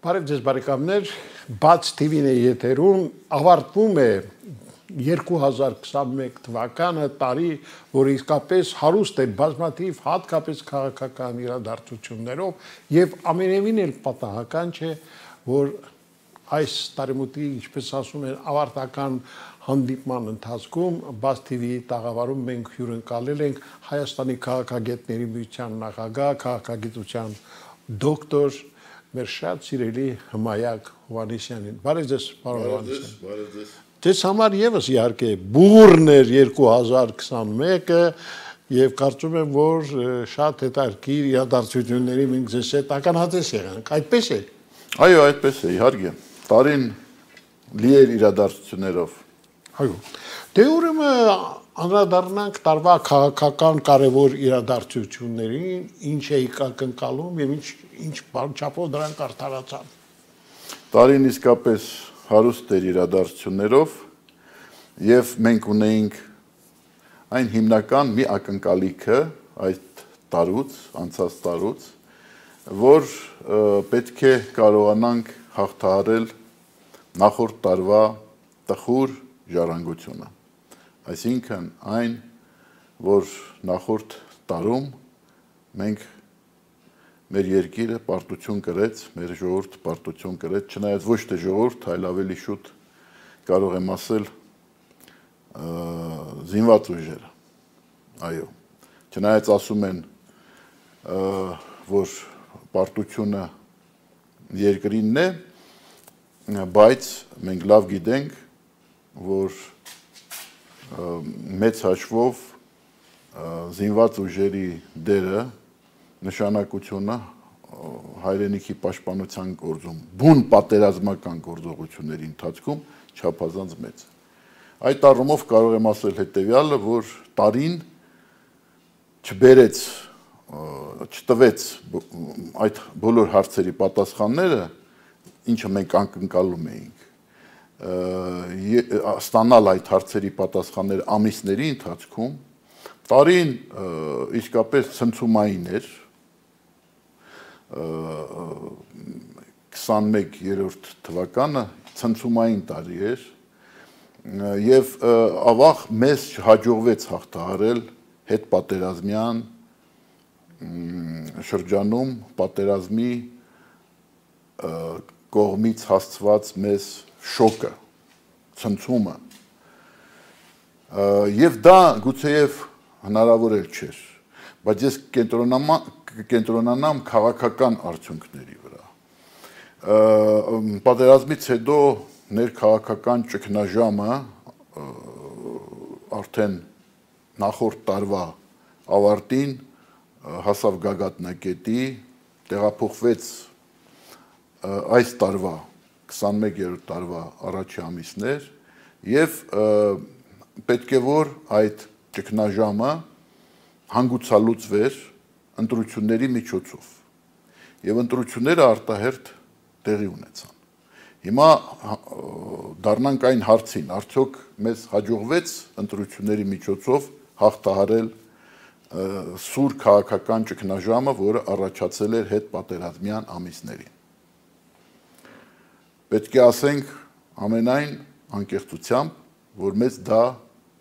Բարև ձեզ բարեկամներ, Բաց TV-ն է եթերում, ավարտվում է 2021 թվականը, տարի, որ իսկապես հարուստ է բազմաթիվ հատկապես քաղաքական իրադարձություններով եւ ամենևին էլ պատահական չէ, որ այս տարեմուտի, ինչպես ասում են, ավարտական հանդիպման ընթացքում Բաց TV-ի տաղավարում մենք հյուրընկալել ենք Հայաստանի քաղաքագետների միության նախագահ, քաղաքագիտության դոկտոր մեր շատ սիրելի Հմայակ Հովհաննիսյանին։ Բարև ձեզ, պարոն Հովհաննիսյան։ Բարև ձեզ։ Ձեզ համար եւս իհարկե բուրն էր 2021-ը եւ կարծում եմ, որ շատ հետաքրքիր իրադարձությունների մենք ձեզ հետ ականատես եղանք։ Այդպես է։ Այո, այդպես է, իհարկե։ Տարին լի էր իրադարձություններով։ Այո։ Դե ուրեմն անդրադառնանք տարվա քաղաքական կարևոր իրադարձություններին, ինչ էիք ակնկալում եւ ինչ չափով դրանք արդարացան։ Տարին իսկապես հարուստ էր իրադարձություններով եւ մենք ունեինք այն հիմնական մի ակնկալիքը այդ տարուց, անցած տարուց, որ պետք է կարողանանք հաղթահարել նախորդ տարվա տխուր ժառանգությունը։ Այսինքն այն, որ նախորդ տարում մենք մեր երկիրը պարտություն կրեց, մեր ժողովուրդը պարտություն կրեց, չնայած ոչ թե ժողովուրդ, այլ ավելի շուտ կարող եմ ասել զինված ուժերը։ Այո։ Չնայած ասում են, որ պարտությունը երկրինն է, բայց մենք լավ գիտենք, որ մեծ հաշվով զինված ուժերի դերը նշանակությունը հայրենիքի պաշտպանության գործում, բուն պատերազմական գործողությունների ընթացքում չափազանց մեծ։ Այդ առումով կարող եմ ասել հետևյալը, որ տարին չտվեց այդ բոլոր հարցերի պատասխանները, ինչը մենք ակնկալում էինք, ստանալ այդ հարցերի պատասխանները ամիսների ընթացքում, տարին իսկապես ցնցումային էր, 21-րդ թվականը ցնցումային տարի էր եւ ավաղ մեզ չհաջողվեց հաղթահարել հետպատերազմյան շրջանում պատերազմի կողմից հասցված մեզ շոկը, ցնցումը եւ դա գուցեև հնարավոր էլ չէր, բայց ես կենտրոնանամ քաղաքական արդյունքների վրա։ Պատերազմից հետո ներքաղաքական ճգնաժամը արդեն նախորդ տարվա ավարտին հասավ գագաթնակետի, տեղափոխվեց այս տարվա 21-րդ տարվա առաջի ամիսներ եւ պետք է որ այդ ճգնաժամը հանգուցալուծվեր ընտրությունների միջոցով եւ ընտրությունները արտահերթ տեղի ունեցան։ Հիմա դառնանք այն հարցին, արդյոք մեզ հաջողվեց ընտրությունների միջոցով հաղթահարել սուր քաղաքական ճգնաժամը, որը առաջացել էր հետպատերազմյան ամիսներին։ Պետք է ասենք ամենայն անկեղծությամբ, որ մեզ դա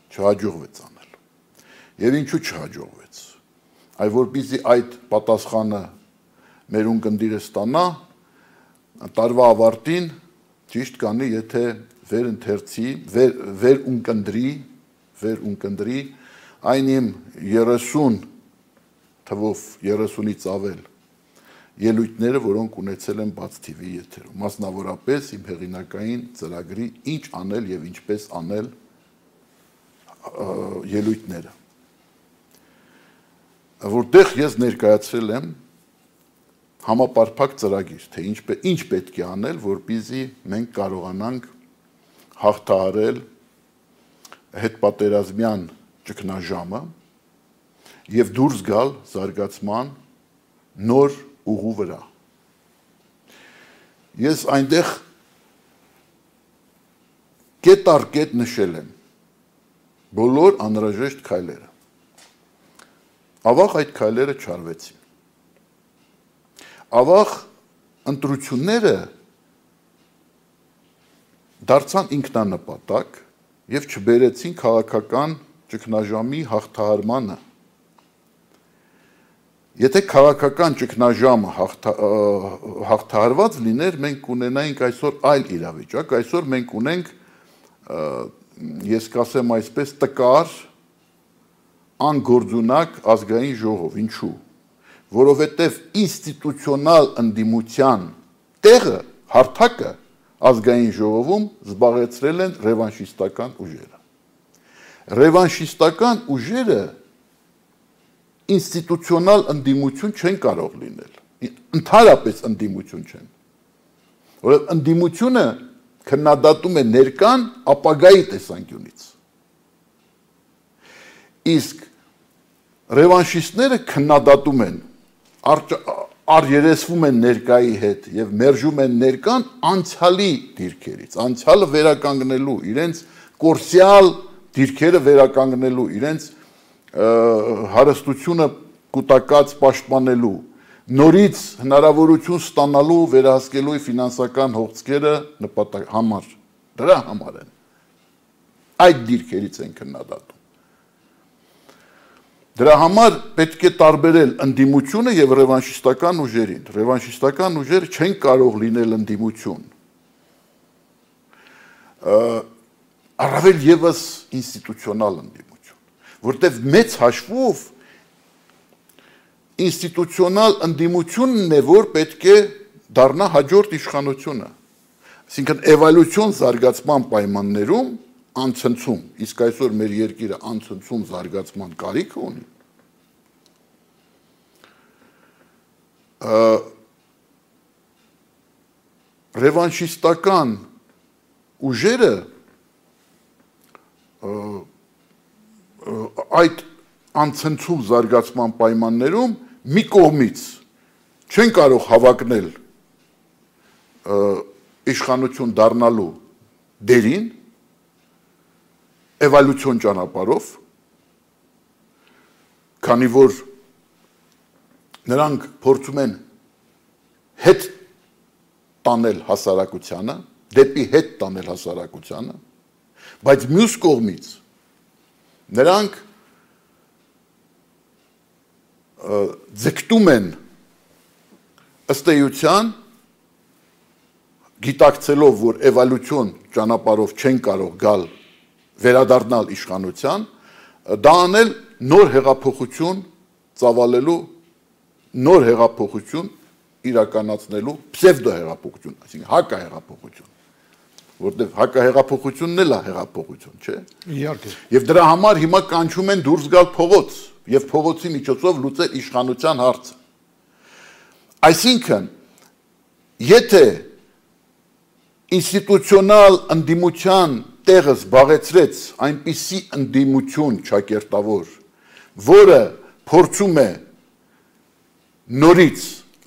չհաջողվեց անել։ Եվ ինչու չհաջողվեց։ Այլ որպեսզի այդ պատասխանը մեր ունկնդիրը ստանա, տարվա ավարտին ճիշտ կանի, եթե վեր ունկնդրի այն իմ 30 թվով 30-ից ավել ելույթները, որոնք ունեցել են Բաց TV-ի եթերում, մասնավորապես իմ հեղինակային ծրագրի ինչ անել եւ ինչպես անել ելույթները, որտեղ ես ներկայացրել եմ համապարփակ ծրագիր, թե ինչ պետք է անել, որպեսզի մենք կարողանանք հաղթահարել հետպատերազմյան ճգնաժամը եւ դուրս գալ զարգացման նոր ուղու վրա։ Ես այնտեղ կետ առ կետ նշել եմ բոլոր անհրաժեշտ քայլերը։ Ավաղ այդ քայլերը չարվեցին։ Ավաղ ընտրությունները դարձան ինքնանպատակ եւ չբերեցին քաղաքական ճգնաժամի հաղթահարմանը։ Եթե քաղաքական ճգնաժամը հաղթահարված լիներ, մենք կունենայինք այսօր այլ իրավիճակ, այսօր մենք ունենք, ես կասեմ այսպես, տկար, անգործունակ ազգային ժողով, ինչու, որովհետև ինստիտուցիոնալ ընդդիմության տեղը, հարթակը ազգային ժողովում զբաղեցրել են ռևանշիստական ուժերը։ Ռևանշիստական ուժերը ինստիտուցիոնալ ընդդիմություն չեն կարող լինել, ընդհանրապես ընդդիմություն չեն, որովհետև ընդդիմությունը քննադատում է ներկան ապագայի տեսանկյունից, իսկ ռևանշիստները քննադատում են, առերեսվում են ներկայի հետ եւ մերժում են ներկան անցյալի դիրքերից, անցյալը վերականգնելու, իրենց կորսյալ դիրքերը վերականգնելու, իրենց հարստությունը կուտակած պաշտպանելու, նորից հնարավորություն ստանալու վերահսկելու ֆինանսական հողձկերը համար, դրա համար են, այդ դիրքերից են քննադատում։ Դրա համար պետք է տարբերել ընդդիմությունը եւ ռևանշիստական ուժերին։ Ռևանշիստական ուժերը չեն կարող լինել ընդդիմություն։ Առավել եւս ինստիտուցիոնալ ընդդիմություն, որտեղ մեծ հաշվով ինստիտուցիոնալ ընդդիմությունն է, որ պետք է դառնա հաջորդ իշխանությունը։ Այսինքն էվոլյուցիոն զարգացման պայմաններում անցնցում, իսկ այսօր մեր երկիրը անցնցում զարգացման կարիք ունի։ Ռևանշիստական ուժերը այդ անցնցում զարգացման պայմաններում մի կողմից չեն կարող հավակնել իշխանություն դառնալու դերին, էվոլյուցիոն ճանապարհով, քանի որ նրանք փորձում են հետ տանել հասարակությանը, դեպի հետ տանել հասարակությանը, բայց մյուս կողմից նրանք ձգտում են ըստ էության գիտակցելով, որ էվոլյուցիոն ճանապարհով չեն կարող գալ վերադառնալ իշխանության, դա անել նոր հեղափոխություն ծավալելու, նոր հեղափոխություն իրականացնելու պսևդոհեղափոխություն, այսինքն հակահեղափոխություն, որտեղ հակահեղափոխությունն էլ է հեղափոխություն, չէ՞։ Իհարկե։ Եվ դրա համար հիմա կանչում են դուրս գալ փողոց եւ փողոցի միջոցով լուծել իշխանության հարցը։ Այսինքն, եթե ինստիտուցիոնալ ընդդիմության տեղը զբաղեցրեց այնպիսի ընդդիմություն ճակերտավոր, որը փորձում է նորից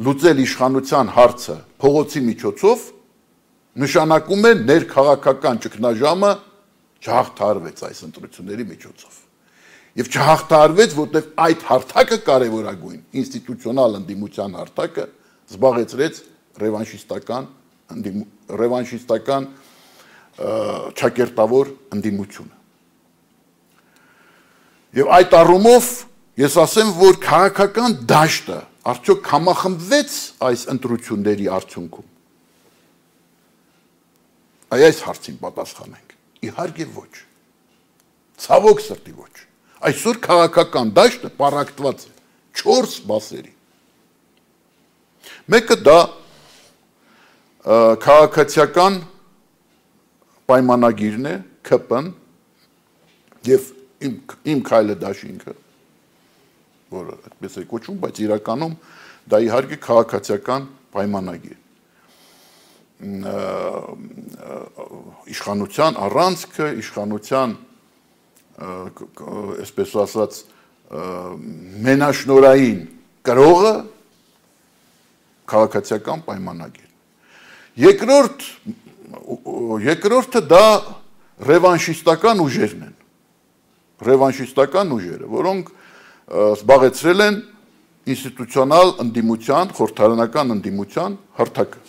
լուծել իշխանության հարցը փողոցի միջոցով, նշանակում է ներքաղաքական ճգնաժամը չհաղթահարվեց այս ընտրությունների միջոցով։ Եվ չհաղթահարվեց, որտեղ այդ հարթակը կարևորագույն ինստիտուցիոնալ ընդդիմության հարթակը զբաղեցրեց ռևանշիստական ճակերտավոր ընդդիմությունը։ Եվ այդ առումով ես ասեմ, որ քաղաքական դաշտը արդյոք համախմբվեց այս ընտրությունների արդյունքում։ Այս հարցին պատասխանենք։ Իհարկե ոչ։ Ցավոք սրտի ոչ։ Այսօր քաղաքական դաշտը պառակտված է 4 մասերի։ Մեկը դա քաղաքացիական պայմանագիրն է, ԿՊ-ն եւ իմ քայլը դաշինքը, որը այդպես է կոչվում, բայց իրականում դա իհարկե քաղաքացիական պայմանագիր։ Իշխանության առանցքը, իշխանության, այսպես ասած, մենաշնորային կրողը քաղաքացիական պայմանագիր։ Երկրորդը դա ռևանշիստական ուժերն են։ Ռևանշիստական ուժերը, որոնք զբաղեցրել են ինստիտուցիոնալ ընդդիմության, խորհրդարանական ընդդիմության հարթակը։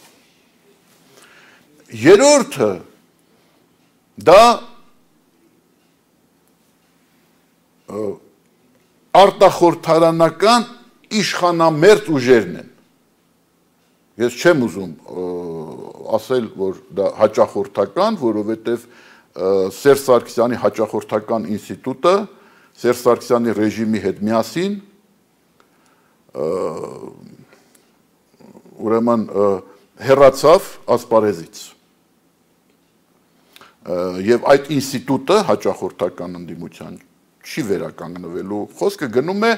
Երրորդը դա արտախորհրդարանական իշխանամերձ ուժերն են։ Ես չեմ ուզում ասել, որ դա հաճախորդական, որովհետև Սերժ Սարգսյանի հաճախորդական ինստիտուտը Սերժ Սարգսյանի ռեժիմի հետ միասին ուրեմն հեռացավ ասպարեզից։ Եվ այդ ինստիտուտը հաճախորդական ընդդիմության չի վերականգնվելու, խոսքը գնում է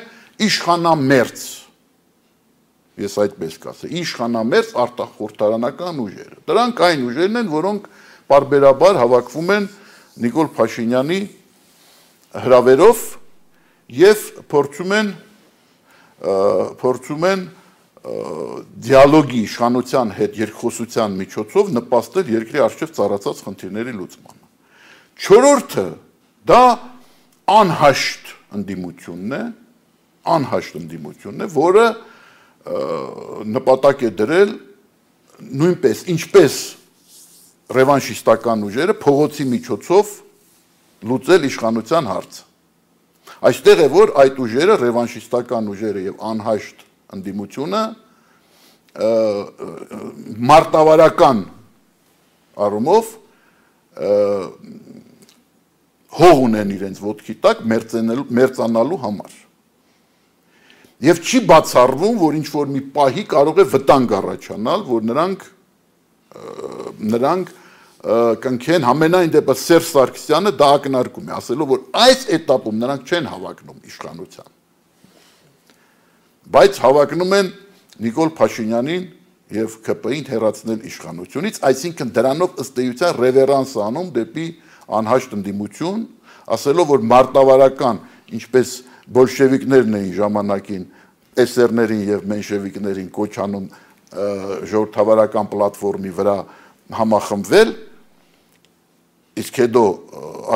իշխանամերձ, ես այդպես կասեմ, իշխանամերձ արտախորհրդարանական ուժերը։ Դրանք այն ուժերն են, որոնք պարբերաբար հավաքվում են Նիկոլ Փաշինյանի հրավերով եւ փորձում են դիալոգի իշխանության հետ երկխոսության միջոցով նպաստել երկրի առջև ծառացած խնդիրների լուծմանը։ Չորրորդը դա անհաշտ ընդդիմությունն է, որը նպատակ է դրել նույնպես ինչպես ռևանշիստական ուժերը փողոցի միջոցով լուծել իշխանության հարցը։ Այստեղ է որ այդ ուժերը ռևանշիստական ուժերը եւ անհաշտ ընդդիմությունը մարտավարական առումով հող ունեն իրենց ոտքի տակ մերձանալու համար։ Եվ չի բացառվում, որ ինչ որ մի պահի կարող է վտանգ առաջանալ, որ նրանք կնքեն համենայն դեպս Սերժ Սարգսյանը դա ակնարկում է, ասելով, որ այս էտապում նրանք չեն հավակնում իշխանության։ Բայց հավակնում են Նիկոլ Փաշինյանին եւ ԿՊ-ին հեռացնել իշխանությունից, այսինքն դրանով ըստ էության ռևերանս անում դեպի անհաշտ ընդդիմություն, ասելով, որ մարտավարական, ինչպես բոլշևիկներն էին ժամանակին էսերներին եւ մենշևիկներին կոչ անում ժողովրդավարական պլատֆորմի վրա համախմբվել, իսկ հետո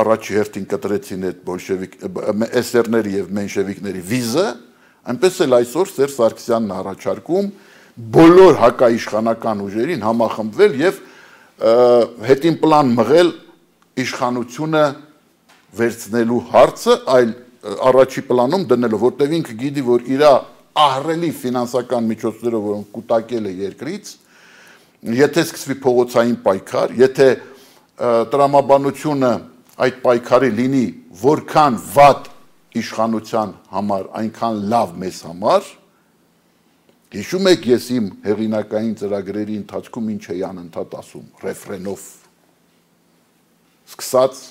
առաջի հերթին կտրեցին այդ բոլշևիկ էսերների եւ մենշևիկների վիզը, այնպես էլ այսօր Սերժ Սարգսյանն առաջարկում բոլոր հակաիշխանական ուժերին համախմբվել եւ հետին պլան մղել իշխանությունը վերցնելու հարցը, այլ առաջի պլանում դնելով, որտեղ ինքը գիտի, որ իր ահռելի ֆինանսական միջոցներով, որոնք կուտակել է երկրից, եթե սկսվի փողոցային պայքար, եթե տրամաբանությունը այդ պայքարի լինի որքան վատ իշխանության համար, այնքան լավ մեզ համար, հիշում եք ես իմ հեղինակային ծրագրերի ընթացքում ինչ էի անընդհատ ասում, ռեֆրենով, սկսած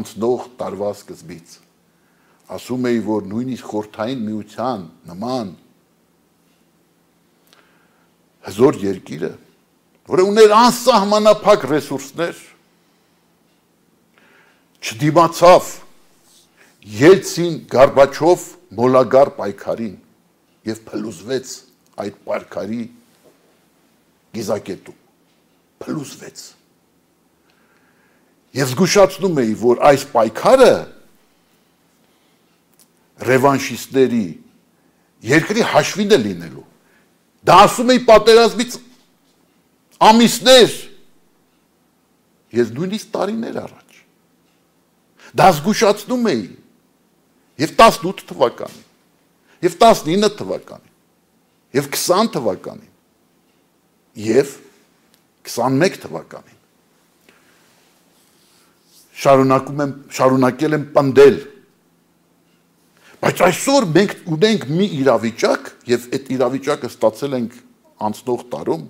անցնող տարվա սկզբից, ասում էի, որ նույնիսկ խորհրդային միության նման հզոր երկիրը, որը ուներ անսահմանափակ ռեսուրսներ, չդիմացավ Ելցին Գորբաչով մոլագար պայքարին եւ փլուզվեց այդ պայքարի գիզակետում, փլուզվեց։ Եվ զգուշացնում էի, որ այս պայքարը ռևանշիստների երկրի հաշվին է լինելու։ Դա ասում էի պատերազմից ամիսներ, ես նույնիսկ տարիներ առաջ։ Դա զգուշացնում էի եւ 18 թվականին, եւ 19 թվականին, եւ 20 թվականին, եւ 21 թվականին։ Շարունակել եմ պնդել, բայց այսօր մենք ունենք մի իրավիճակ եւ այդ իրավիճակը ստացել ենք անցնող տարում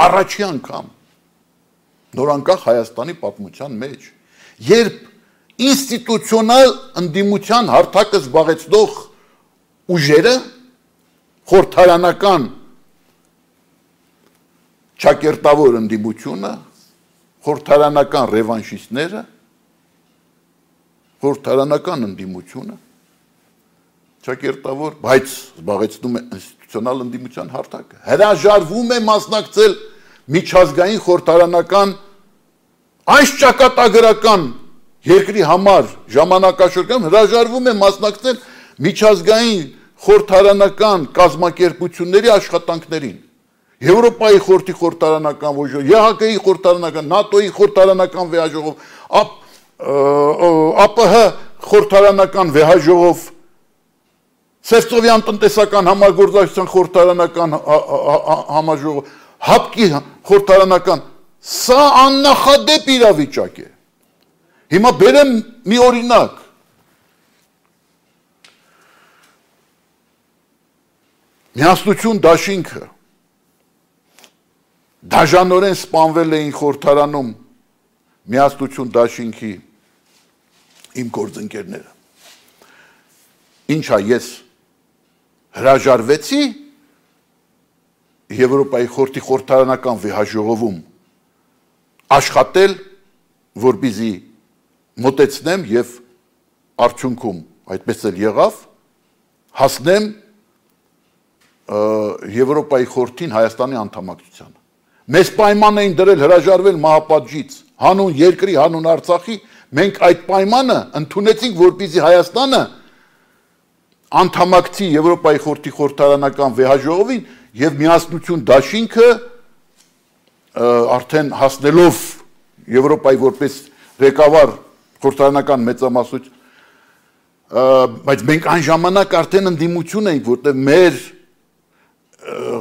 առաջի անգամ նորանկախ Հայաստանի պատմության մեջ, երբ ինստիտուցիոնալ ընդդիմության հարթակը զբաղեցնող ուժերը, խորհրդարանական ճակերտավոր ընդդիմությունը, խորհրդարանական ռևանշիստները, խորհրդարանական ընդդիմությունը, ճակերտավոր, բայց զբաղեցնում է ինստիտուցիոնալ ընդդիմության հարթակը, հրաժարվում է մասնակցել միջազգային խորհրդարանական այս ճակատագրական երկրի համար ժամանակաշրջանում հրաժարվում է մասնակցել միջազգային խորհրդարանական կազմակերպությունների աշխատանքներին, Եվրոպայի խորհրդի խորհրդարանական ոժով, ԵՀԿ-ի խորհրդարանական, ՆԱՏՕ-ի խորհրդարանական վեհաժողով, ԱՊՀ խորհրդարանական վեհաժողով, Սևծովյան տնտեսական համագործակցության խորհրդարանական համաժողով, ՀԱՊԿ-ի խորհրդարանական, սա աննախադեպ իրավիճակ է։ Հիմա բերեմ մի օրինակ։ Միասնություն դաշինքը դաժանորեն սպանվել էին խորհրդարանում Միասնություն դաշինքի իմ գործընկերները։ Ինչա ես հրաժարվեցի Եվրոպայի խորհրդի խորհրդարանական վեհաժողովում աշխատել, որպեսզի մոտեցնեմ եւ արդյունքում այդպես էլ եղավ, հասնեմ Եվրոպայի խորհրդին Հայաստանի անդամակցությանը։ Մեզ պայման էին դրել հրաժարվել մահապատժից, հանուն երկրի, հանուն Արցախի, մենք այդ պայմանը ընդունեցինք, որպեսզի Հայաստանը անդամակցի Եվրոպայի խորհրդի խորհրդարանական վեհաժողովին եւ Միասնություն դաշինքը արդեն հասնելով Եվրոպայի որպես ղեկավար խորհրդարանական մեծամասնություն, բայց մենք այն ժամանակ արդեն ընդդիմություն էինք, որտեղ մեր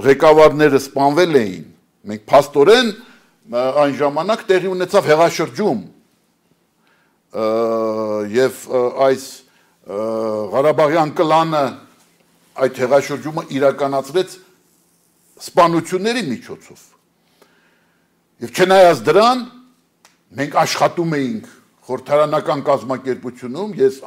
ղեկավարները սպանվել էին, մենք փաստորեն այն ժամանակ տեղի ունեցավ հեղաշրջում եւ այս Ղարաբաղյան կլանը այդ հեղաշրջումը իրականացրեց սպանությունների միջոցով։ Եվ չնայած դրան, մենք աշխատում էինք խորհրդարանական կազմակերպությունում, ես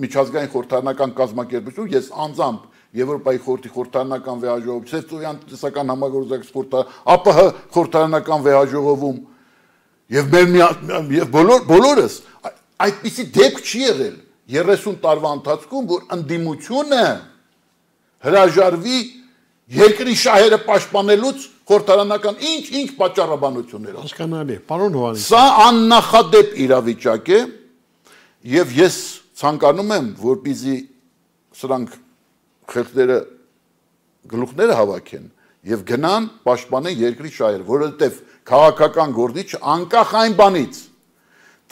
միջազգային խորհրդարանական կազմակերպությունում, ես անձամբ Եվրոպայի խորհրդի խորհրդարանական վեհաժողովում, Սևծովյան տնտեսական համագործակցության ԱՊՀ խորհրդարանական վեհաժողովում եւ բոլորս այդպիսի դեպք չի եղել 30 տարվա ընթացքում, որ ընդդիմությունը հրաժարվի երկրի շահերը պաշտպանելուց խորհրդարանական ինչ պատճառաբանություններով։ Հասկանալի է, պարոն Հովհաննիսյան։ Սա աննախադեպ իրավիճակ է եւ ես ցանկանում եմ, որպեսզի սրանք խելքները գլուխները հավաքեն եւ գնան պաշտպանեն երկրի շահերը, որովհետեւ քաղաքական գործիչը անկախ այն բանից,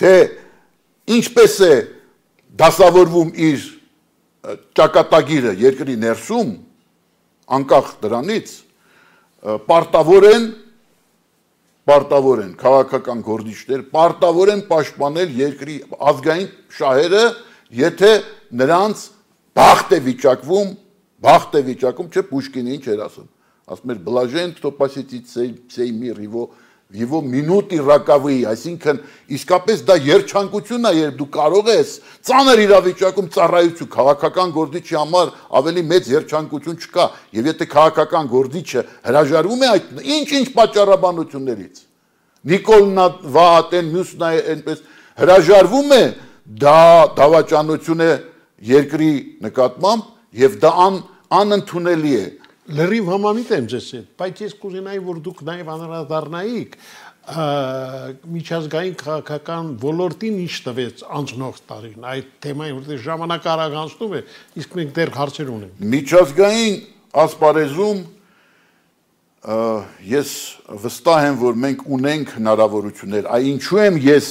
թե ինչպես է դասավորվում իր ճակատագիրը երկրի ներսում, անկախ դրանից պարտավոր են քաղաքական գործիչներ, պարտավոր են պաշտպանել երկրի ազգային շահերը, եթե նրանց բախտ է վիճակում, չէ Պուշկինը ինչ էր ասում, ասում էր բլաժեն, кто посетит сей мир, его минуты роковые, այսինքն իսկապես դա երջանկություն է, երբ դու կարող ես ծանր իրավիճակում ծառայություն քաղաքական գործիչի համար ավելի մեծ երջանկություն չկա, եւ եթե քաղաքական գործիչը հրաժարվում է այդ ինչ պատճառաբանություններից, Նիկոլնա Վահատեն մյուսն է այնպես հրաժարվում է, դա դավաճանություն է երկրի նկատմամբ եւ դա անընդունելի է։ Լրիվ համամիտ եմ ձեզ հետ, բայց ես կուզենայի, որ դուք նաև անդրադառնայիք միջազգային քաղաքական ոլորտին ինչ տվեց անցնող տարին, այդ թեմային, որտեղ ժամանակը արագ անցնում է, իսկ մենք դեռ հարցեր ունենք։ Միջազգային ասպարեզում ես վստահ եմ, որ մենք ունենք հնարավորություններ, ինչու եմ ես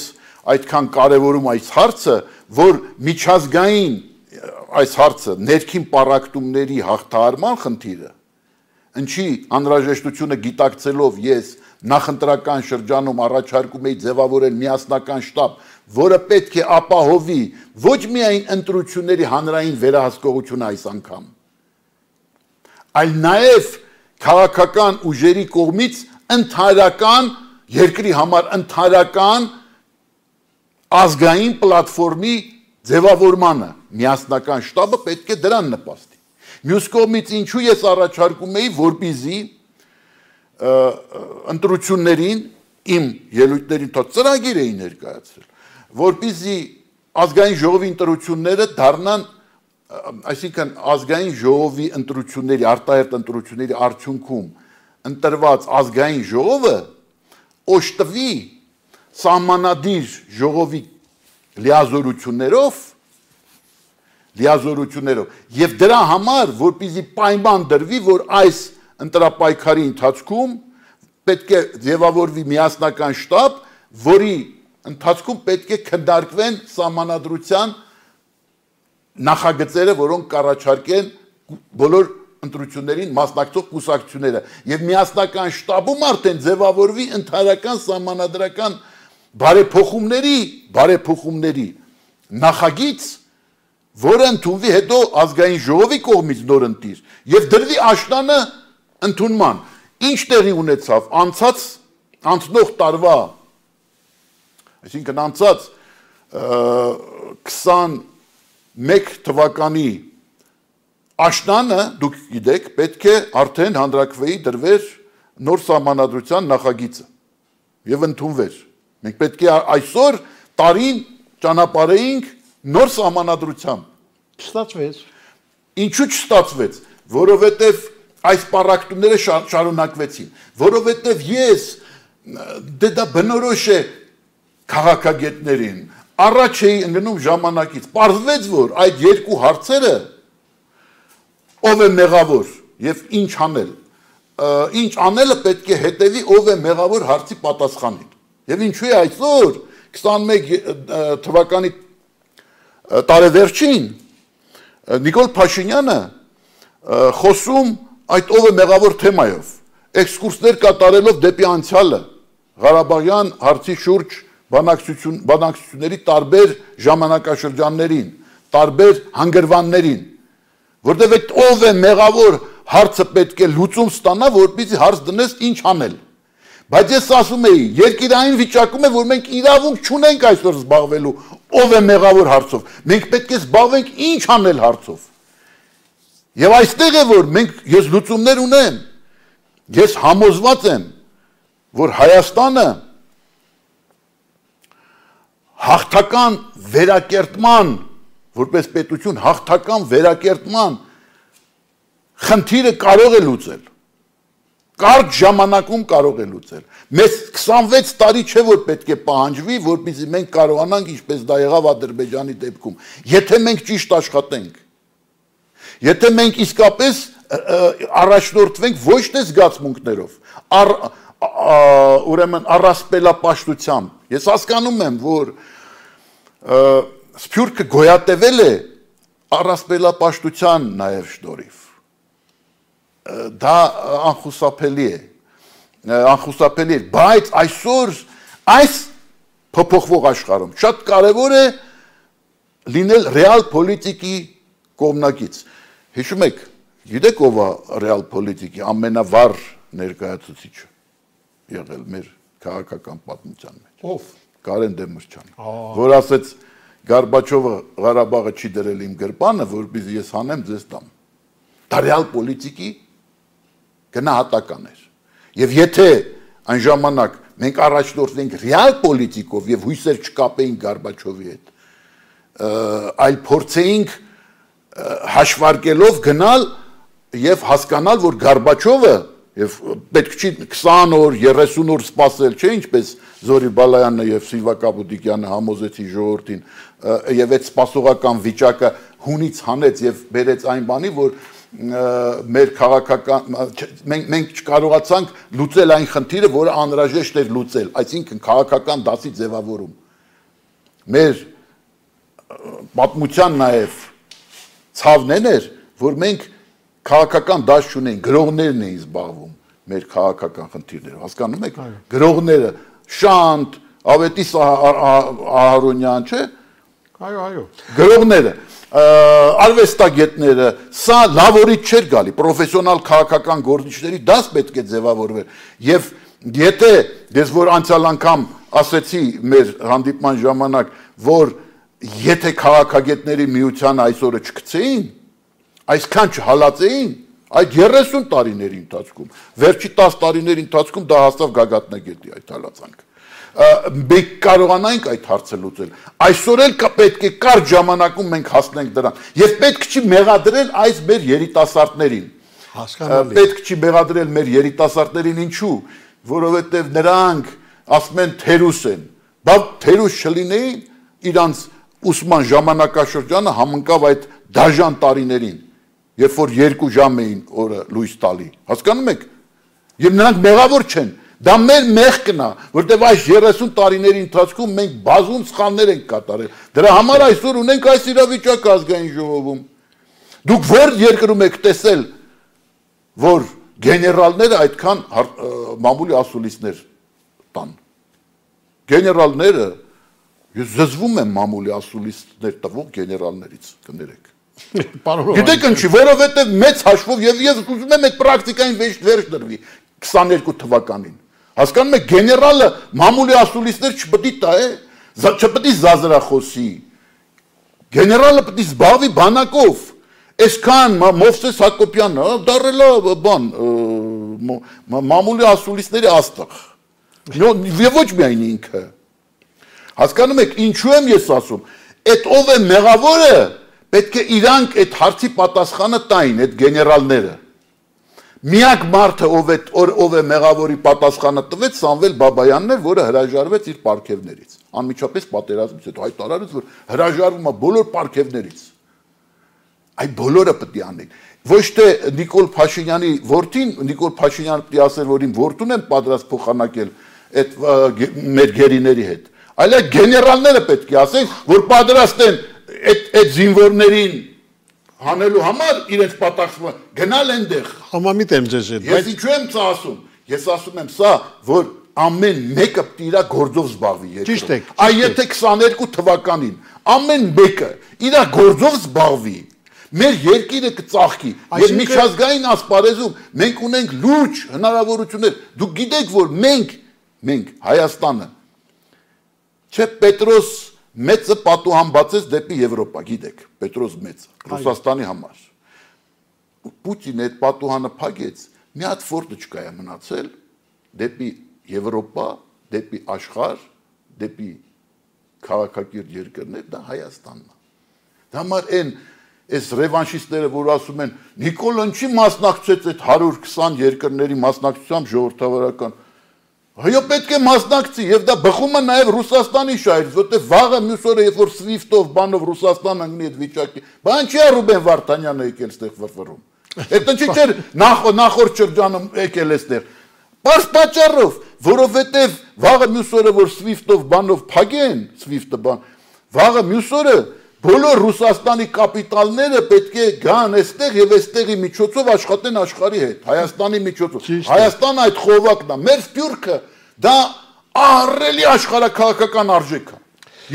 այդքան կարևորում այս հարցը, որ միջազգային այս հարցը ներքին պառակտումների հաղթահարման խնդիրը, ինչի անհրաժեշտությունը գիտակցելով ես նախընտրական շրջանում առաջարկում էի ձևավորել միասնական շտաբ, որը պետք է ապահովի ոչ միայն ընտրությունների հանրային վերահսկողությունը այս անգամ, այլ նաև քաղաքական ուժերի կողմից ընդհանրական երկրի համար ընդհանրական ազգային պլատֆորմի ձևավորմանը, միասնական շտաբը պետք է դրան նպաստի։ Մյուս կողմից ինչու ես առաջարկում էի, որպեսզի ընտրություններին իմ ելույթներին թող ծրագիր էի ներկայացրել, որպեսզի ազգային ժողովի ընտրությունները դառնան, այսինքն ազգային ժողովի ընտրությունների, արտահերթ ընտրությունների արդյունքում ընտրված ազգային ժողովը օժտվի սահմանադիր ժողովի լիազորություններով լիազորություններով եւ դրա համար որպեսզի պայման դրվի, որ այս ընտրապայքարի ընթացքում պետք է ձևավորվի միասնական շտաբ, որի ընթացքում պետք է քննարկվեն սահմանադրության նախագծերը, որոնք կառաջարկեն բոլոր ընտրություններին մասնակցող կուսակցությունները եւ միասնական շտաբում արդեն ձևավորվի ընդհանրական սահմանադրական բարեփոխումների նախագիծ, որը ընդունվի հետո ազգային ժողովի կողմից նորընտիր եւ դրվի աշնանը ընդունման։ Ինչ տեղի ունեցավ անցնող տարվա, այսինքն անցած 21 թվականի աշնանը, դուք գիտեք, պետք է արդեն հանրաքվեի դրվեր նոր սահմանադրության նախագիծը եւ ընդունվեր։ Մենք պետք է այսօր տարին ճանապարհեինք նոր սահմանադրությամբ։ Չստացվեց։ Ինչու չստացվեց, որովհետեւ այս պարակտումները շարունակվեցին, որովհետև ես դա բնորոշ է քաղաքագետներին, առաջ էի ընկնում ժամանակից, պարզվեց, որ այդ երկու հարցերը ով է մեղավոր եւ ինչ անելը պետք է հետևի ով է մեղավոր հարցի պատասխանին։ Եվ ինչու է այսօր 21 թվականի տարեվերջին Նիկոլ Փաշինյանը խոսում այդ ով է մեղավոր թեմայով, էքսկուրսներ կատարելով դեպի անցյալը, Ղարաբաղյան հարցի շուրջ բանակցությունների տարբեր ժամանակաշրջաններին, տարբեր հանգրվաններին, որտեղ այդ ով է մեղավոր հարցը պետք է լուծում ստանա, որպեսզի հարց դնես ինչ անել։ Բայց ես ասում էի, երկիրային վիճակում է, որ մենք իրավունք չունենք այսօր զբաղվելու ով է մեղավոր հարցով, մենք պետք է զբաղվենք ինչ անել հարցով։ Եվ այստեղ է, որ ես լուծումներ ունեմ, ես համոզված եմ, որ Հայաստանը հաղթական վերակերտման, որպես պետություն հաղթական վերակերտման խնդիրը կարող է լուծել, կարճ ժամանակում կարող է լուծել։ Մեզ 26 տարի չէ, որ պետք է պահանջվի, որպեսզի մենք կարողանանք, ինչպես դա եղավ Ադրբեջանի դեպքում, եթե մենք ճիշտ աշխատենք, եթե մենք իսկապես առաջնորդվենք ոչ թե զգացմունքներով, ուրեմն առասպելապաշտությամբ։ Ես հասկանում եմ, որ Սփյուռքը գոյատևել է առասպելապաշտության նաև շնորհիվ։ Դա անխուսափելի է, բայց այսօր այս փոփոխվող աշխարհում շատ կարևոր է լինել ռեալ պոլիտիկի կողմնակից։ Հիշում եք, գիտեք ով է ռեալ պոլիտիկի ամենավառ ներկայացուցիչը եղել մեր քաղաքական պատմության մեջ։ Ով։ Կարեն Դեմիրճյանը, որ ասեց Գորբաչովը Ղարաբաղը չի դրել իմ գրպանը, որպեսզի ես հանեմ ձեզ տամ։ Դա ռեալ պոլիտիկի գնահատական էր։ Եվ եթե այն ժամանակ մենք առաջնորդվենք ռեալ պոլիտիկով եւ հույսեր չկապեինք Գորբաչովի հետ, այլ փորձեինք հաշվարկելով գնալ եւ հասկանալ, որ Գորբաչովը եւ պետք չի 20 օր, 30 օր սպասել, չէ՞ ինչպես Զորի Բալայանը եւ Սիլվա Կապուտիկյանը համոզեցին ժողովրդին եւ այդ սպասողական վիճակը հունից հանեց եւ բերեց այն բանի, որ մեր քաղաքական մենք չկարողացանք լուծել այն խնդիրը, որը անհրաժեշտ էր լուծել, այսինքն քաղաքական դասի ձևավորում։ Մեր պատմության նաեւ ցավն էր, որ մենք քաղաքական դաշ չունենք, գրողներն էին զբաղվում մեր քաղաքական խնդիրներով, հասկանում եք։ Գրողները Շանտ, Ավետիս Ահարոնյան, չէ՞։ Այո։ Գրողները, արվեստագետները, սա լավորից չէր գալի, պրոֆեսիոնալ քաղաքական գործիչների դաս պետք է ձևավորվեր։ Եվ եթե ես որ անցյալ անգամ ասեցի մեր հանդիպման ժամանակ, որ եթե քաղաքագետների միությանը այսօրը չգցեին, այսքան չհալածեին, այդ 30 տարիների ընթացքում, վերջի 10 տարիների ընթացքում դա հաստավ գագաթնագետի այդ հալածանքը։ Մենք կարողանանք այդ հարցը լուծել։ Այսօր էլ պետք է կարճ ժամանակում մենք հասնենք դրան։ Եվ պետք չի մեղադրել այս մեր երիտասարդներին։ Հասկանալի։ Պետք չի մեղադրել մեր երիտասարդներին, ինչու՞, որովհետև նրանք ասում են թերուս են։ Բայց թերուս չլինեին, իրանց ուսման ժամանակաշրջանը համընկավ այդ դաժան տարիներին, երբ որ 2 ժամ էին օրը լույս տալի, հասկանում եք, եւ նրանք մեղավոր չեն, դա մեր մեղքն է, որտեղ այս 30 տարիների ընթացքում մենք բազում սխալներ ենք կատարել, դրա համար այսօր ունենք այս իրավիճակը ազգային ժողովում, դուք որ երկրում եք տեսել, որ գեներալները այդքան մամուլի ասուլիսներ տան, գեներալները, ես զզվում եմ մամուլի ասուլիսներ տվող գեներալներից, կներեք, գիտեք ինչի, որովհետև մեծ հաշվով եւ ես ուզում եմ այդ պրակտիկային վերջ դրվի 22 թվականին, հասկանում եք, գեներալը մամուլի ասուլիսներ չպետք է տա, չպետք է զազրախոսի, գեներալը պետք է զբաղվի բանակով, այսքան Մովսես Հակոբյանը դարել է բան մամուլի ասուլիսների աստղ, եւ ոչ միայն ինքը, հասկանում եք, ինչու եմ ես ասում, այդ ով է մեղավորը, պետք է իրանք այդ հարցի պատասխանը տային, այդ գեներալները, միակ մարդը ով է մեղավորի պատասխանը տվեց Սամվել Բաբայանն էր, որը հրաժարվեց իր պարգևներից, անմիջապես պատերազմից հետո հայտարարեց, որ հրաժարվում է բոլոր պարգևներից, այդ բոլորը պետք է անեն, ոչ թե Նիկոլ Փաշինյանի որդին, Նիկոլ Փաշինյանը պետք է ասեր, որ իմ որդուն են պատրաստ փոխանակել այդ մեր գերիների հետ, այլ այդ գեներալները պետք է ասեն, որ պատրաստ են այդ զինվորներին հանելու համար իրենց պատասխանը գնալ այնտեղ։ Համամիտ եմ ձեզ հետ։ Ես ինչու եմ սա ասում։ Ես ասում եմ սա, որ ամեն մեկը պետք է իր գործով զբաղվի երկրում։ Ճիշտ եք։ Այ եթե 22 թվականին ամեն մեկը իր գործով զբաղվի, մեր երկիրը կծաղկի։ Եվ միջազգային ասպարեզում մենք ունենք լուրջ հնարավորություններ։ Դուք գիտեք, որ մենք Հայաստանը չէ Պետրոս մեծը պատուհան բացեց դեպի Եվրոպա, գիտեք, Պետրոս մեծը, Ռուսաստանի համար։ Պուտինը այդ պատուհանը փակեց, մի հատ ֆորտը չկայա մնացել դեպի Եվրոպա, դեպի աշխարհ, դեպի քաղաքակիրթ երկրներ, դա Հայաստանն է։ Դա համար այս ռևանշիստները, որ ասում են, Նիկոլան չի մասնակցեց այդ 120 երկրների մասնակցությամբ ժողովրդավարական Հայո պետք է մասնակցի եւ դա բխում է նաեւ Ռուսաստանի շահերից, որտեղ վաղը մյուս օրը երբ որ SWIFT-ով բանով Ռուսաստան ընկնի այդ վիճակի, բան չի Ռուբեն Վարդանյանը եկել ստեղ վրվռում։ Այդ ինչի՞ չէր նախորդ շրջանում եկել էստեղ։ Պարզ պատճառով, որովհետեւ վաղը մյուս օրը որ SWIFT-ով բանով փակեն, SWIFT-ը բան, վաղը մյուս օրը բոլոր Ռուսաստանի կապիտալները պետք է գան այստեղ եւ այստեղի միջոցով աշխատեն աշխարհի հետ, Հայաստանի միջոցով։ Հայաստանը այդ խողովակն է, մեր սփյուռքը դա ահռելի աշխարհակաղակական արժեք է։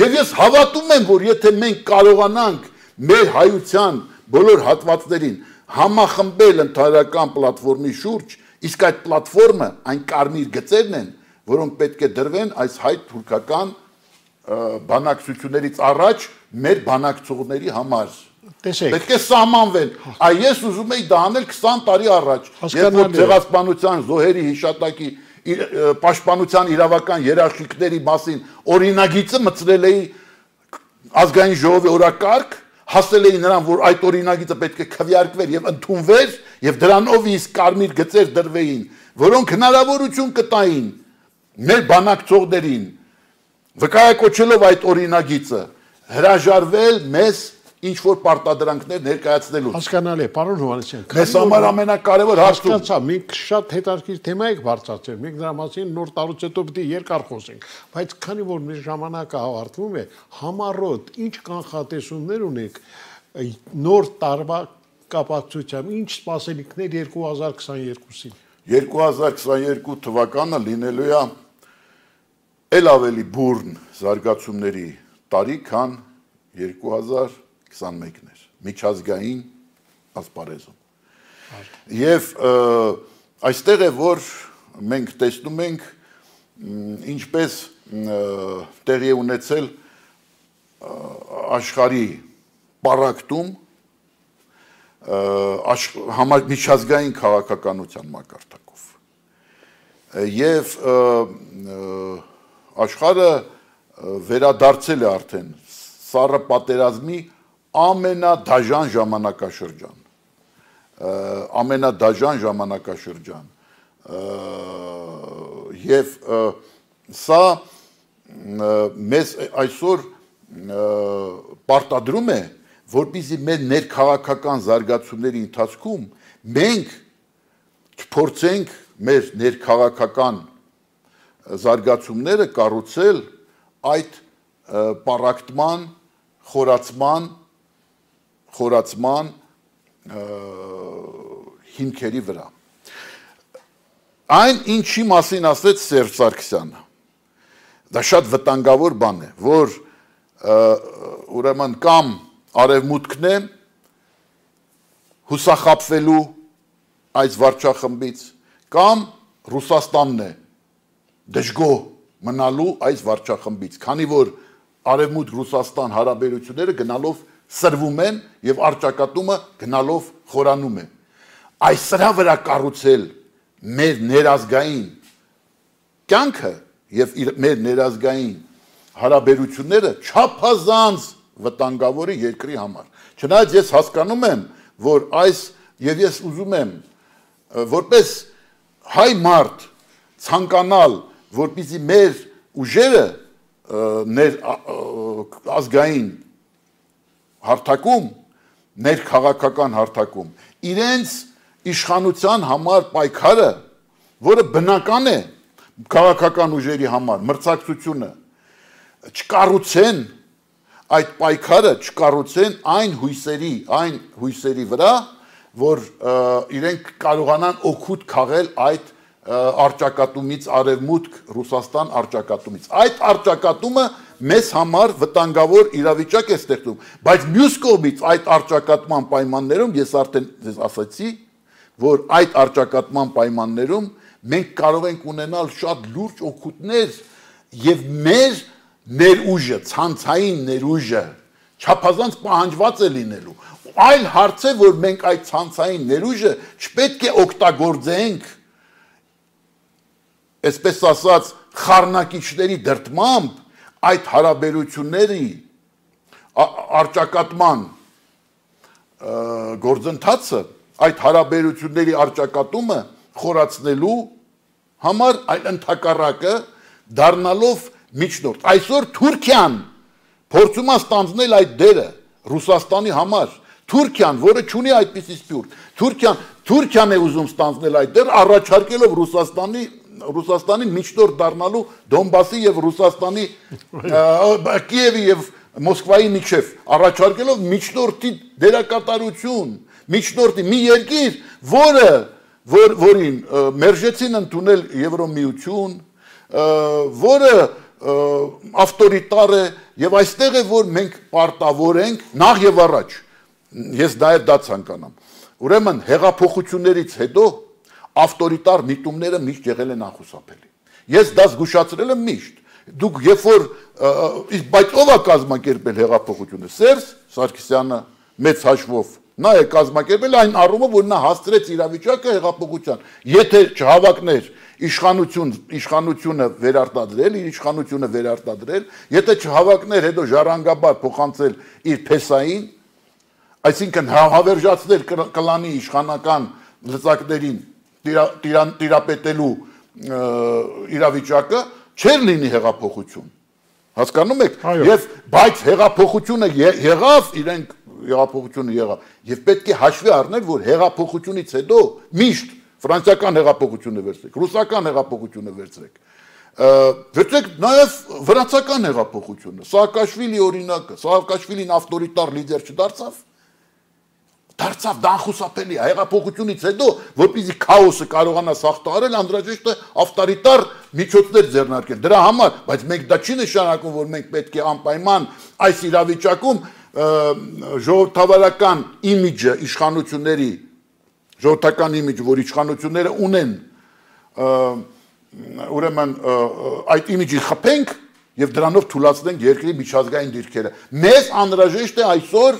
Եվ ես հավատում եմ, որ եթե մենք կարողանանք մեր հայության բոլոր հատվածներին համախմբել ընդհանրական պլատֆորմի շուրջ, իսկ այդ պլատֆորմը այն կարմիր գծերն են, որոնք պետք է դրվեն այս հայ-թուրքական բանակցություններից առաջ մեր բանակցողների համար։ Պետք է սահմանվեն։ Այ ես ուզում եի դա անել 20 տարի առաջ, երբ որ ցեղասպանության զոհերի հիշատակի պաշտպանության իրավական երաշխիքների մասին օրինագիծը մտցրել էի ազգային ժողովի օրակարգ, հասել էի նրան, որ այդ օրինագիծը պետք է քվեարկվեր եւ ընդունվեր եւ դրանով իսկ կարմիր գծեր դրվեին, որոնք հնարավորություն կտային մեր բանակցողներին վկայակոչելով այդ օրինագիծը հրաժարվել մեզ ինչ որ պարտադրանքներ ներկայացնելու։ Հասկանալի է, պարոն Հովհաննիսյան։ Մեզ համար ամենակարևոր հարցը։ Հասկացա, մենք շատ հետաքրքիր թեմա եք բարձրացրել, մենք դրա մասին նոր տարուց հետո պետք է երկար խոսենք, բայց քանի որ մեր ժամանակը ավարտվում է, համառոտ ինչ կանխատեսումներ ունեք նոր տարվա կապակցությամբ, ինչ սպասելիքներ 2022-ին։ 2022 թվականը լինելու է էլ ավելի բուրն զարգացումների տարի, քան 2021-ն էր, միջազգային ասպարեզում։ Եվ այստեղ է, որ մենք տեսնում ենք, ինչպես տեղի է ունեցել աշխարհի պառակտում միջազգային քաղաքականության մակարդակով։ Եվ աշխարհը վերադարձել է արդեն սառը պատերազմի ամենադաժան ժամանակաշրջան, եւ սա մեզ այսօր պարտադրում է, որպեսզի մեր ներքաղաքական զարգացումների ընթացքում մենք չփորձենք մեր ներքաղաքական զարգացումները կառուցել այդ պառակտման, խորացման հիմքերի վրա։ Այն ինչի մասին ասեց Սերժ Սարգսյանը, դա շատ վտանգավոր բան է, որ ուրեմն կամ արևմուտքն է հուսախաբվելու այս վարչախմբից, կամ Ռուսաստանն է դժգոհ մնալու այս վարչախմբից, քանի որ արևմուտք-Ռուսաստան հարաբերությունները գնալով սրվում են եւ արճակատումը գնալով խորանում է։ Այս սրա վրա կառուցել մեր ներազգային կյանքը եւ մեր ներազգային հարաբերությունները չափազանց վտանգավոր է երկրի համար։ Չնայած ես հասկանում եմ, որ այս եւ ես ուզում եմ որպես հայ մարդ ցանկանալ, որպեսզի մեր ուժերը ազգային հարթակում, ներքաղաքական հարթակում, իրենց իշխանության համար պայքարը, որը բնական է քաղաքական ուժերի համար, մրցակցությունը, չկառուցեն այդ պայքարը, չկառուցեն այն հույսերի վրա, որ իրենք կարողանան օգուտ քաղել այդ արճակատումից, արևմուտք Ռուսաստան արճակատումից։ Այդ արճակատումը մեզ համար վտանգավոր իրավիճակ է ստեղծում, բայց մյուս կողմից այդ արճակատման պայմաններում ես արդեն ձեզ ասացի, որ այդ արճակատման պայմաններում մենք կարող ենք ունենալ շատ լուրջ օգուտներ եւ մեր ներուժը, ցանցային ներուժը չափազանց պահանջված է լինելու։ Այլ հարց է, որ մենք այդ ցանցային ներուժը չպետք է օգտագործենք այսպես ասած խառնակիչների դրդմամբ այդ հարաբերությունների արճակատման գործընթացը, այդ հարաբերությունների արճակատումը խորացնելու համար, այլ ընդհակառակը դառնալով միջնորդ։ Այսօր Թուրքիան փորձում է ստանձնել այդ դերը Ռուսաստանի համար։ Թուրքիան, որը չունի այդպիսի սփյուռք, Թուրքիան է ուզում ստանձնել այդ դերը, առաջարկելով Ռուսաստանին միջնորդ դառնալու Դոնբասի եւ Ռուսաստանի Կիևի եւ Մոսկվայի միջև, առաջարկելով միջնորդի դերակատարություն, միջնորդի մի երկիր, որին մերժեցին ընդունել Եվրոմիություն, որը ավտորիտար է եւ այստեղ է, որ մենք պարտավոր ենք նախ եւ առաջ, ես նաեւ դա ցանկանամ։ Ուրեմն հեղափոխություններից հետո ավտորիտար միտումները միշտ եղել են անխուսափելի։ Ես դա զգուշացրել եմ միշտ։ Դուք երբ որ բայց ով է կազմակերպել հեղափոխությունը։ Սերժ Սարգսյանը մեծ հաշվով նա է կազմակերպել այն առումով, որ նա հասցրեց իրավիճակը հեղափոխության։ Եթե չհավակներ իշխանությունը վերարտադրել, եթե չհավակներ հետո ժառանգաբար փոխանցել իր փեսային, այսինքն հավերժացնել կլանի իշխանական լծակներին տիրապետելու իրավիճակը, չէր լինի հեղափոխություն։ Հասկանում եք, բայց հեղափոխությունը եղավ, իրենք հեղափոխությունը եղավ, եւ պետք է հաշվի առնել, որ հեղափոխությունից հետո միշտ ֆրանսիական հեղափոխությունը վերցրեք, ռուսական հեղափոխությունը վերցրեք նաեւ վրացական հեղափոխությունը, Սաակաշվիլի օրինակը, Սաակաշվիլին ավտորիտար լիդեր չդարձավ, դարձավ դա անխուսափելի է, հեղափոխությունից հետո, որպեսզի քաոսը կարողանա սաղթարել, անհրաժեշտ է ավտորիտար միջոցներ ձեռնարկել։ Դրա համար, բայց մենք դա չի նշանակում, որ մենք պետք է անպայման այս իրավիճակում ժողովրդավարական իմիջը իշխանությունների, ժողովրդական իմիջը, որ իշխանությունները ունեն, ուրեմն այդ իմիջի խփենք եւ դրանով թուլացնենք երկրի միջազգային դիրքերը։ Մեզ անհրաժեշտ է այսօր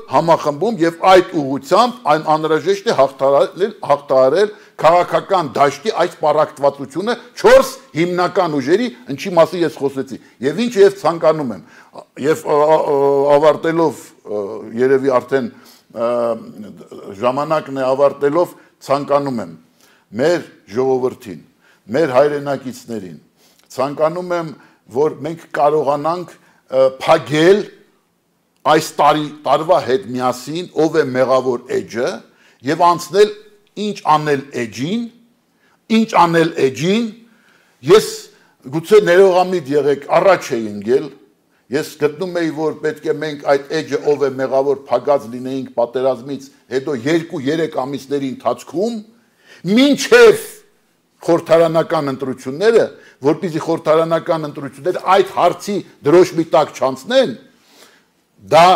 համախմբում եւ այդ ուղղությամբ այն անհրաժեշտ է հաղթահարել քաղաքական դաշտի այս պառակտվածությունը 4 հիմնական ուժերի, ինչի մասին ես խոսեցի, եւ ինչը ես ցանկանում եմ, եւ ավարտելով երևի արդեն ժամանակն է ավարտելով ցանկանում եմ մեր ժողովրդին, մեր հայրենակիցներին, ցանկանում եմ, որ մենք կարողանանք փակել այս տարվա հետ միասին ով է մեղավոր էջը եւ անցնել ինչ անել էջին ես գուցե ներողամիտ եղեք առաջ էի ընկել ես գտնում էի որ պետք է մենք այդ էջը ով է մեղավոր փակած լինեինք պատերազմից հետո 2-3 ամիսների ընթացքում մինչև խորհրդարանական ընտրությունները որպեսզի խորհրդարանական ընտրությունները այդ հարցի դրոշմի տակ չանցնեն դա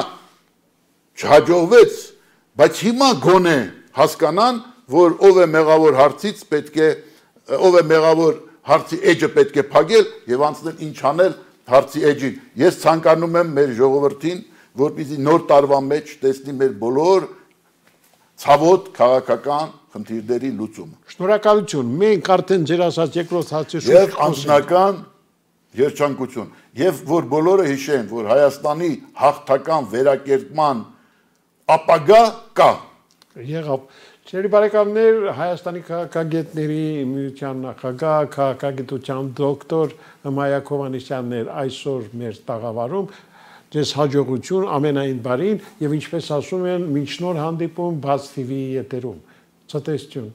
չհաջողվեց բայց հիմա գոնե հասկանան որ ով է մեղավոր հարցից պետք է ով է մեղավոր հարցի էջը պետք է փակել եւ անցնել ինչ անել հարցի էջին ես ցանկանում եմ մեր ժողովրդին որպեսզի նոր տարվա մեջ տեսնի մեր բոլոր ցավոտ քաղաքական խնդիրների լուծումը շնորհակալություն մենք արդեն ձեր ասած երկրորդ հարցի շուրջ եւ անձնական երջանկություն եւ որ բոլորը հիշեն որ Հայաստանի հաղթական վերակերտման ապագա կա եղավ Չերի բարեկամներ Հայաստանի քաղաքագետների միության նախագահ քաղաքագիտության դոկտոր Մայակ Հովհաննիսյանն էր այսօր մեր տաղավարում ձեզ հաջողություն ամենայն բարին եւ ինչպես ասում են մինչ նոր հանդիպում բաց TV եթերում ցտեսություն